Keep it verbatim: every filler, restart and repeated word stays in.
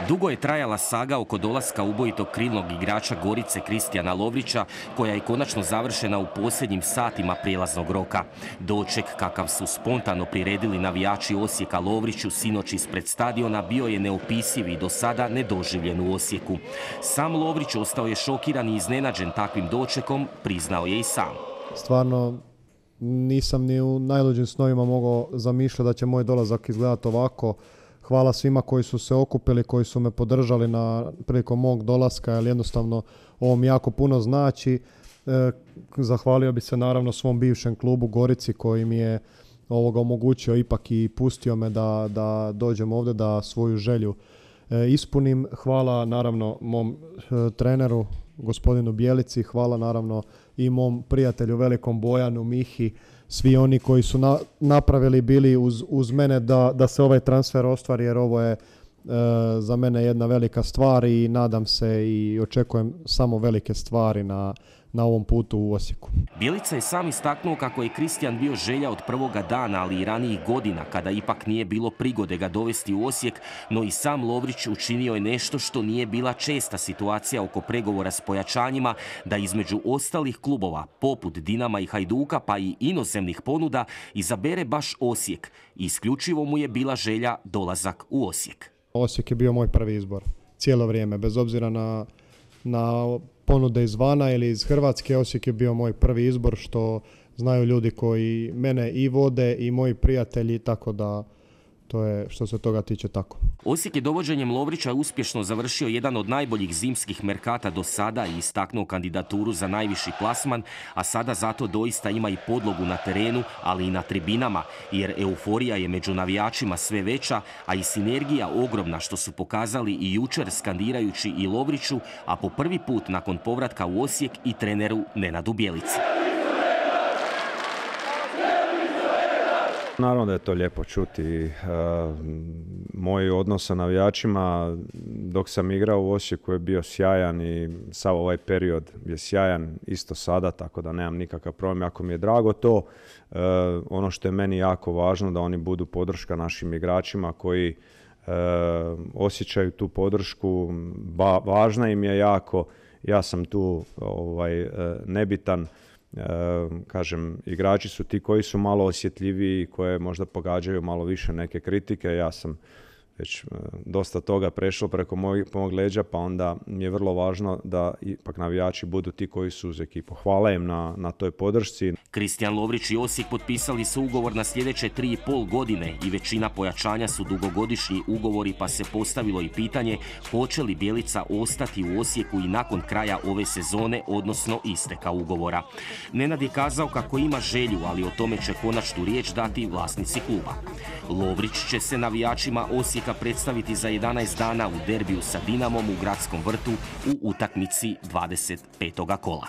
Dugo je trajala saga oko dolaska ubojitog krilnog igrača Gorice Kristijana Lovrića, koja je konačno završena u posljednjim satima prijelaznog roka. Doček kakav su spontano priredili navijači Osijeka Lovriću sinoć ispred stadiona bio je neopisiv i do sada nedoživljen u Osijeku. Sam Lovrić ostao je šokiran i iznenađen takvim dočekom, priznao je i sam. Stvarno nisam ni u najluđim snovima mogao zamišljati da će moj dolazak izgledati ovako. Hvala svima koji su se okupili, koji su me podržali na prilikom mog dolaska, jer jednostavno ovo mi jako puno znači. E, zahvalio bi se naravno svom bivšem klubu Gorici koji mi je ovoga omogućio ipak i pustio me da, da dođem ovdje, da svoju želju e, ispunim. Hvala naravno mom e, treneru, gospodinu Bjelici, hvala naravno i mom prijatelju velikom Bojanu, Mihi, svi oni koji su na, napravili bili uz, uz mene da, da se ovaj transfer ostvari, jer ovo je e, za mene jedna velika stvar i nadam se i očekujem samo velike stvari na, na ovom putu u Osijeku. Bjelica je sam istaknuo kako je Kristijan bio želja od prvoga dana, ali i ranijih godina, kada ipak nije bilo prigode ga dovesti u Osijek, no i sam Lovrić učinio je nešto što nije bila česta situacija oko pregovora s pojačanjima, da između ostalih klubova, poput Dinama i Hajduka, pa i inozemnih ponuda, izabere baš Osijek. Isključivo mu je bila želja dolazak u Osijek. Osijek je bio moj prvi izbor cijelo vrijeme, bez obzira na, na ponude izvana ili iz Hrvatske. Osijek je bio moj prvi izbor, što znaju ljudi koji mene i vode i moji prijatelji, tako da to je što se toga tiče tako. Osijek je dovođenjem Lovrića uspješno završio jedan od najboljih zimskih merkata do sada i istaknuo kandidaturu za najviši plasman, a sada zato doista ima i podlogu na terenu, ali i na tribinama, jer euforija je među navijačima sve veća, a i sinergija ogromna, što su pokazali i jučer skandirajući i Lovriću, a po prvi put nakon povratka u Osijek i treneru Nenadu Bjelici. Naravno da je to lijepo čuti. E, moj odnos sa navijačima dok sam igrao u Osijeku je bio sjajan i sav ovaj period je sjajan isto sada, tako da nemam nikakav problem. Jako mi je drago to. E, ono što je meni jako važno da oni budu podrška našim igračima koji e, osjećaju tu podršku. Ba, važna im je jako. Ja sam tu ovaj, nebitan. E, kažem, igrači su ti koji su malo osjetljiviji, koje možda pogađaju malo više neke kritike. Ja sam već e, dosta toga prešao preko mojeg, mojeg leđa, pa onda mi je vrlo važno da ipak navijači budu ti koji su uz ekipu. Hvala im na, na toj podršci. Kristijan Lovrić i Osijek potpisali su ugovor na sljedeće tri i pol godine i većina pojačanja su dugogodišnji ugovori, pa se postavilo i pitanje hoće li Bjelica ostati u Osijeku i nakon kraja ove sezone, odnosno isteka ugovora. Nenad je kazao kako ima želju, ali o tome će konačnu riječ dati vlasnici kluba. Lovrić će se navijačima Osijeka predstaviti za jedanaest dana u derbiju sa Dinamom u Gradskom vrtu u utakmici dvadeset petoga kola.